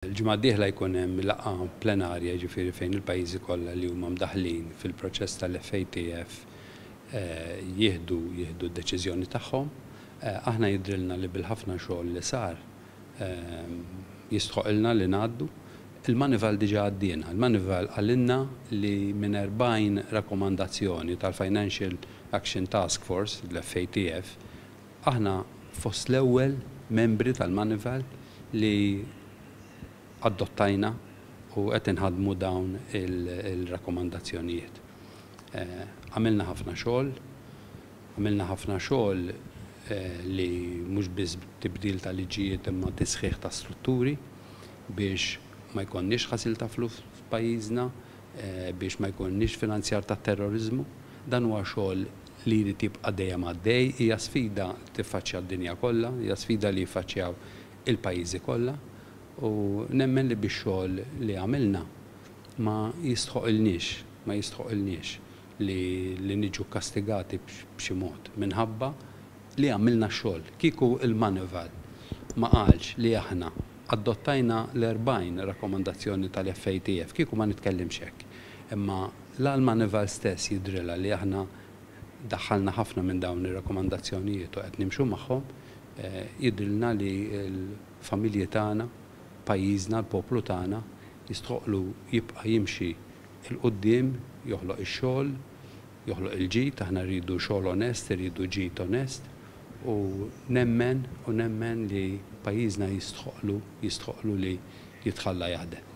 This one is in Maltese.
Il-ġimgħa d-dieħla jkun hemm laqgħa plenarja, jiġifieri fejn il-pajjiżi kollha li huma mdaħħlin fil-proċess tal-FATF jieħdu jieħdu d-deċiżjoni tagħhom. Aħna jidhrilna li bil-ħafna xogħol li sar jistħoqilna li ngħaddu. Il-Moneyval diġà għaddiena. Il-Moneyval qalilna li minn 40 rakkomandazzjoni tal-Financial Action Task Force, l-FATF, aħna fost l-ewwel membri tal-Moneyval li adottajna u qed inħaddmu dawn il-rakkomandazzjonijiet. Għamilna ħafna xogħol, għamilna ħafna xogħol li mhux biss tibdil ta' liġijiet imma tisħiħ ta' strutturi biex ma jkollniex ħasil ta' flus f'pajjiżna, biex ma jkollniex finanzjar ta' terroriżmu. Dan huwa xogħol li jrid jibqa' dejjem għaddej, hija sfida li tiffaċċja d-dinja kollha, hija sfida li jiffaċċjaw il-pajjiżi kollha u nemmen li bix-xogħol li għamilna ma jistħoqilniex, ma jistħoqilniex li li niġu kkastigati b'xi mod minħabba li għamilna x-xogħol. Kieku il-Moneyval ma qalx li aħna adottajna l-40 rakkomandazzjoni tal-FATF, kieku ma nitkellimx hekk. Imma la l-Moneyval stess jidhrilha li aħna daħħalna ħafna minn dawn ir-rakkomandazzjonijiet u qed nimxu magħhom, jidhrilna li l-familji tagħna, pajjiżna, l-poplu tagħna jistħoqlu jibqa' jimxi 'l quddiem, joħloq ix-xogħol, joħloq il-ġid, aħna rridu xogħol onest, irridu ġid onest u nemmen u nemmen li pajjiżna jistħoqlu jistħoqlu li jitħalla jaħdem.